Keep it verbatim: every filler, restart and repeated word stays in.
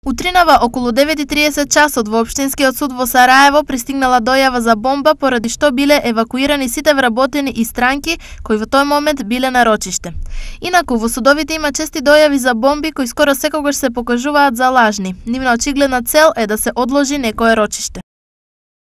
Утринава околу девет и триесет часот во Општинскиот суд во Сараево пристигнала дојава за бомба, поради што биле евакуирани сите вработени и странки кои во тој момент биле на рочиште. Инаку во судовите има чести дојави за бомби кои скоро секогаш се покажуваат за лажни. Нивна очигледна цел е да се одложи некое рочиште.